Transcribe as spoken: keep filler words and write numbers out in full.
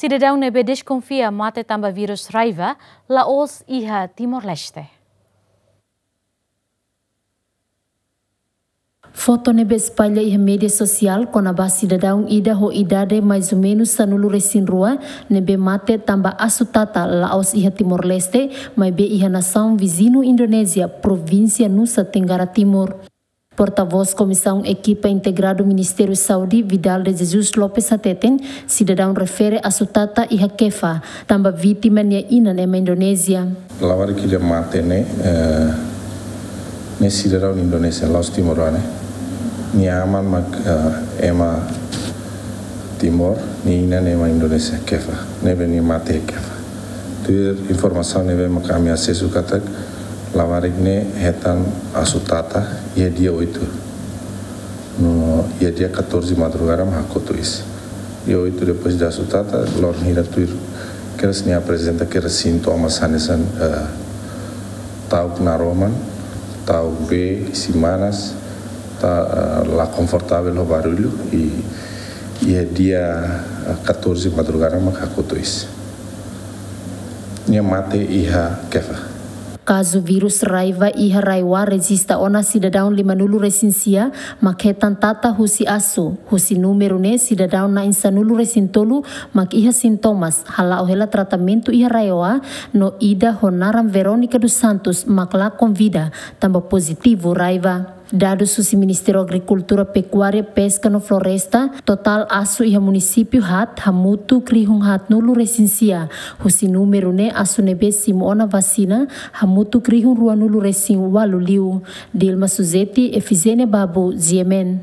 Sidadaun ne'ebé deskonfia mate tanba virus raiva la'ós iha Timor-Leste. Foto ne'ebé espalla iha média sosiál kona-ba sidadaun ida ho idade mais ou menus sanulu resin rua ne'ebé mate tanba asu tata la'ós iha Timor-Leste, maibé iha nasaun viziñu Indonézia, provínsia Nusa Tenggara Timur. Portavós Komisaun Ekipa Integradu Ministériu Saúde, Vidal de Jesus Lopes hateten, sidadaun refere asu tata iha Kefa, tanba vítima nia inan ema Indonézia. Labarik ida mate ne'e, eh, ne'e sidadaun Indonézia, la'ós timoroan ne'e. Nia aman mak, eh, ema Timor, nia inan ema Indonézia, Kefa. Ne'ebé nia mate Kefa. Tuir informasaun ne'ebé mak ami asesu katak, labarik ne'e hetan asu tata iha dia oitu. No iha dia katorze madrugada mak hakotu iis. Dia oitu depois de asu tata, loron hira tuir kedas nia aprezenta kedas sintomas hanesan, eh, ta'uk naroman, ta'uk bee, isin manas, ta, eh, la konfortavel ho barullu, i iha dia, eh, katorze madrugada mak hakotu iis. Nia mate iha Kefa. Kazu virus raiva iha RAEOA rejista ona sidadaun limanulu resin sia mak hetan tata husi asu. Husi númeru ne'e sidadaun na'in sanulu resin tolu mak iha sintomas, hala'o hela tratamentu iha RAEOA, no ida ho naran Verónica dos Santos mak lakon vida, tanba pozitivu raiva. Dadus husi Ministériu Agrikultura, Pekuária, Peska no Floresta, totál asu iha munisípiu haat hamutuk rihun haatnulu resin sia. Husi númeru ne'e asu ne'ebé simu ona vasina hamutuk rihun ruanulu resin ualu liu. Dilma Suzeti, Efizénia Babu, G M N.